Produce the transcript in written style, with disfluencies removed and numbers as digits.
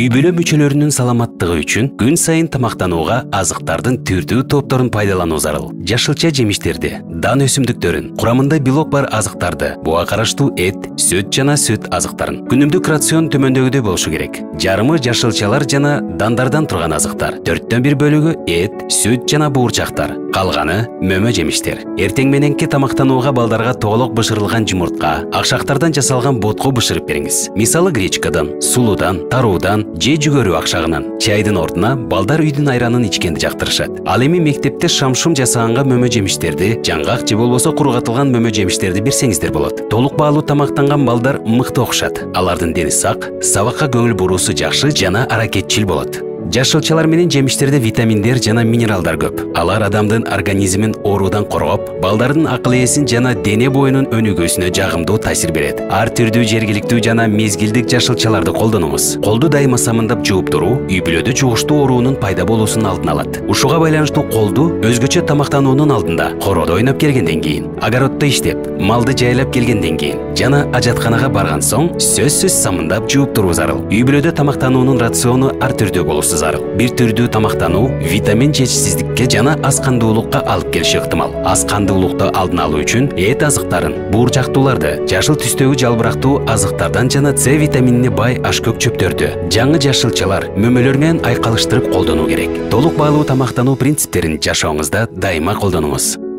Үй бүлө мүчөлөрүнүн саламаттыгы үчүн күн сайын тамактанууга азыктардын түрдүү топторун пайдалануу зарыл. Жашылча жемиштерди, дан өсүмдүктөрүн, курамында белок бар азыктарды, буга караштуу эт, сүт жана сүт азыктарын. Күнүмдүк рацион төмөндөгүдөй болушу керек. Жарымы жашылчалар жана дандардан турган азыктар, 4/1 бөлүгү эт, сүт жана буурчактар, калганы мөмө жемиштер. Эртең мененки тамактанууга балдарга тоголок бышырылган жумуртка, акшактардан жасалган ботко бышырып бериңиз. Мисалы гречкадан, сулуудан, таруудан же жүгөрү акшагынан. Чайдын ордуна балдар үйдүн айранын ичкенди жактырышат. Ал эми мектепте шамшум жасаганга мөмө жемиштерди, жаңгак же болбосо куругатылган мөмө жемиштерди берсеңиздер болот. Толук баалуу тамактанган балдар мыкты окушат. Алардын дени сак, сабакка көңүл буруусу жакшы жана аракетчил болот. Жашылчалар менен жемиштерде витаминдер жана минералдар көп. Алар адамдын организмин оорудан коргоп, балдардын акыл ээсин жана дене боюнун өнүгүүсүнө жагымдуу таасир берет. Ар түрдүү жергиликтүү жана мезгилдик жашылчаларды колдонуңуз. Колду дайыма самындап жууп туруу үй бүлөдө жугуштуу оорунун пайда болуусун алдын алат. Ушуга байланыштуу колду өзгөчө тамактануунун алдында, короодо ойноп келгенден кийин, огороддо иштеп, малды жайлап келгенден кийин жана ажатканага барган соң сөзсүз самындап жууп туруу зарыл. Үй бүлөдө тамактануунун рациону ар түрдүү болуусу зарыл. Бир түрдүү тамактануу витамин жетишсиздикке жана аз кандуулукка алып келиши ыктымал. Аз кандуулукту алдын алуу үчүн эт азыктарын, буурчактууларды, жашыл түстөгү жалбырактуу азыктардан жана С витаминине бай ашкөк чөптөрдү, жаңы жашылчалар, мөмөлөр менен айкалыштырып колдонуу керек. Толук баалуу тамактануу принциптерин жашооңузда дайыма колдонуңуз.